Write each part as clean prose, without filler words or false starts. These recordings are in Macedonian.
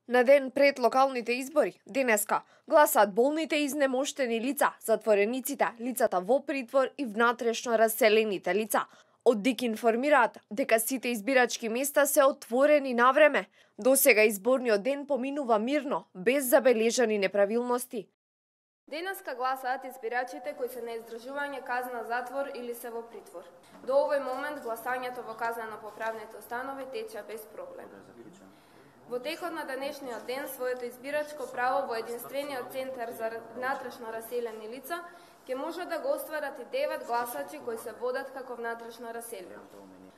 На ден пред локалните избори, денеска, гласаат болните и изнемоштени лица, затворениците, лицата во притвор и внатрешно раселените лица. Од ДИК информираат дека сите избирачки места се отворени на време. Досега изборниот ден поминува мирно, без забележани неправилности. Денеска гласаат избирачите кои се на издржување казна затвор или се во притвор. До овој момент гласањето во казнено-поправните установи тече без проблем. Во текот на денешниот ден своето избирачко право во единствениот центар за внатрешно раселени лица ќе може да го остварат и 9 гласачи кои се водат како внатрешно раселени.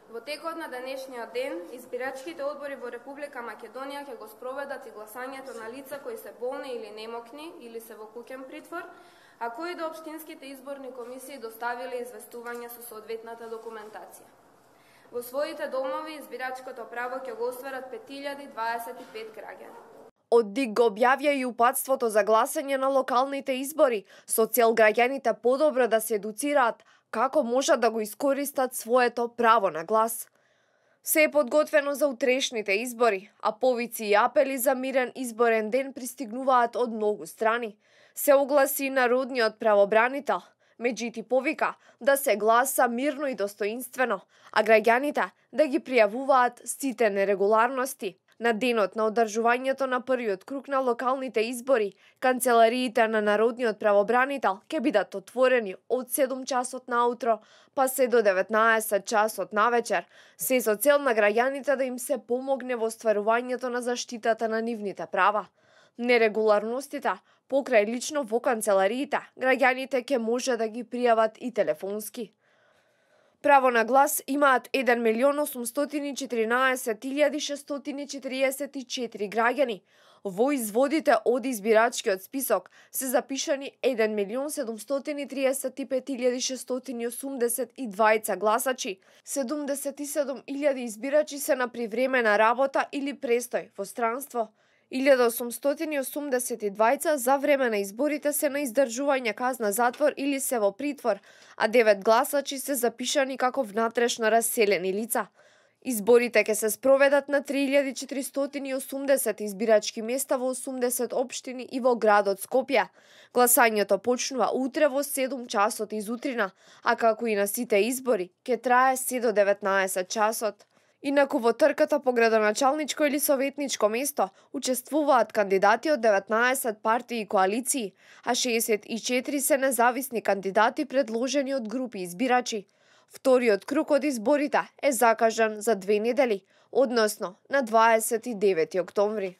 Во текот на денешниот ден, избирачките одбори во Република Македонија ќе го спроведат и гласањето на лица кои се болни или немокни или се во куќен притвор, а кои до општинските изборни комисии доставиле известување со соодветната документација. Во своите домови избирачкото право ќе го остварат 5025 граѓани. Од ДИК го објавија и упатството за гласање на локалните избори, со цел граѓаните подобро да се едуцираат како можат да го искористат своето право на глас. Се е подготвено за утрешните избори, а повици и апели за мирен изборен ден пристигнуваат од многу страни. Се огласи народниот правобранител. Меѓути повика да се гласа мирно и достоинствено, а граѓаните да ги пријавуваат сите нерегуларности. На денот на одржувањето на првиот круг на локалните избори, канцелариите на народниот правобранител ќе бидат отворени од 7 часот наутро па се до 19 часот навечер, се со цел на граѓаните да им се помогне во остварувањето на заштитата на нивните права. Нерегуларностите покрај лично во канцелариите, граѓаните ќе може да ги пријават и телефонски. Право на глас имаат 1.814.644 граѓани. Во изводите од избирачкиот список се запишани 1.735.682 гласачи. 77.000 избирачи се на привремена работа или престој во странство. 1882 за време на изборите се на издржување казна затвор или се во притвор, а 9 гласачи се запишани како внатрешно раселени лица. Изборите ќе се спроведат на 3480 избирачки места во 80 општини и во градот Скопје. Гласањето почнува утре во 7 часот изутрина, а како и на сите избори, ќе трае се до 19 часот. Инаку во трката по градоначалничко или советничко место учествуваат кандидати од 19 партии и коалиции, а 64 се независни кандидати предложени од групи избирачи. Вториот круг од изборите е закажан за 2 недели, односно на 29 октомври.